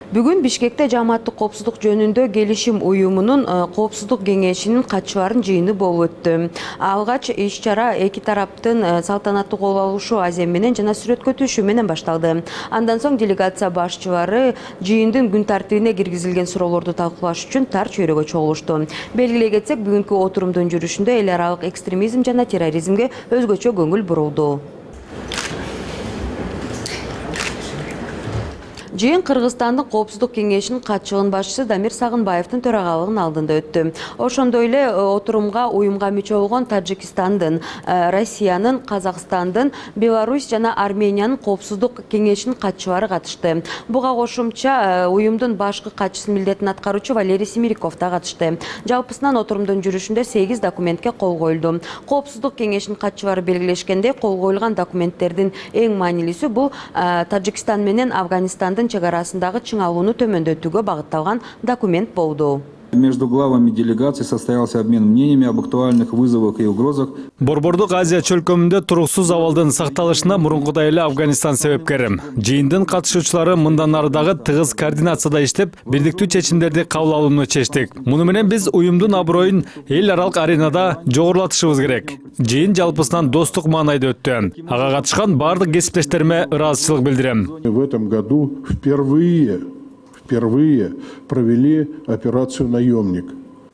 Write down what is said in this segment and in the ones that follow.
Бүгүн Бишкекте Жааматтык коопсуздук жөнүндө келишим уюмунун коопсуздук кеңешинин катчыларын жыйыны болуп өттү. Алгач иш-чара эки тараптын салтанаттуу кол алышуу азем менен жана сүрөткө түшүү менен башталды. Андан соң делегация башчылары жыйындын күн тартибине киргизилген суроолорду талкуулаш үчүн тар чөйрөгө чогулушту. Белгилей кетсек, бүгүнкү отурумдун жүрүшүндө эл аралык экстремизм жана терроризмге өзгөчө көңүл бурулду. Жыйын Кыргызстандын коопсуздук кеңешинин катчылыгынын башчысы Дамир Сагынбаевдин төрагалыгынын алдында өттү. Ошондой эле отурумга уюмга мүчө болгон Тажикстандын, Россиянын, Казакстандын, Беларусь жана Армениянын коопсуздук кеңешинин катчылары катышты. Буга кошумча уюмдун башкы катчысынын милдетин аткаруучу Валерий Семириков да катышты. Жалпысынан отурумдун жүрүшүндө 8 документке кол коюлду. Коопсуздук кеңешинин катчылары белгилешкендей, кол коюлган документтердин эң маанилүүсү бул Тажикстан менен Афганистандын чек арасындагы чыңалууну төмөндөтүүгө багытталган документ болду. Между главами делегаций состоялся обмен мнениями об актуальных вызовах и угрозах. Борбордук Азия чөлкөмүндө туруксуз абалдын сакталышына мурункудай эле Афганистан себепкер. Жыйындын катышуучулары мындан ары дагы тыгыз координацияда иштеп, бирдиктүү чечимдерди кабыл алууну чечтик. Муну менен биз уюмдун аброюн эл аралык аренада жогорулатышыбыз керек. Жыйын жалпысынан достук маанайда өттү. Ага катышкан бардык кесиптештериме ыраазычылык билдирем. В этом году впервые провели операцию «Наемник».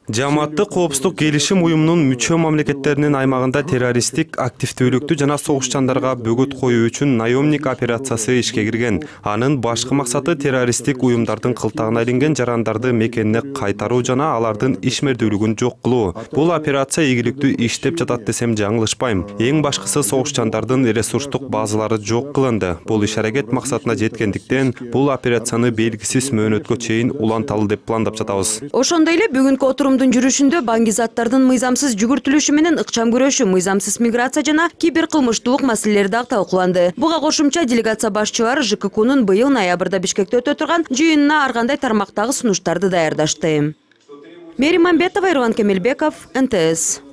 Жааматтык коопсуздук келишим уюмунун мүчө мамлекеттеринин аймагында террористтик активдүүлүктү жана согушчандарга бөгөт коюу үчүн наемник операциясы ишке кирген. Анын башкы максаты террористтик уюмдардын кылтагына илинген жарандарды мекенине кайтаруу жана алардын ишмердүүлүгүн жок кылуу. Бул операция ийгиликтүү иштеп жатат десем жаңылышпайм. Эң башкысы согушчандардын ресурстук базалары жок кылынды. Бул иш-аракет максатына жеткендиктен бул операцияны белгисиз мөөнөткө чейин уланталы деп пландап жатабыз. Ошондой эле бүгүнкү отурумдун жүрүшүндө баңгизаттардын мыйзамсыз жүгүртүлүшү менен ыкчам күрөшүү, мыйзамсыз миграция жана киберкылмыштуулук маселелери дагы талкууланды. Буга кошумча делегация башчылары ЖККнун быйыл ноябрда Бишкекте өтө турган жыйынына ар кандай тармактагы сунуштарды даярдашты. Мери Мамбетова, Ерлан Кемелбеков, НТС.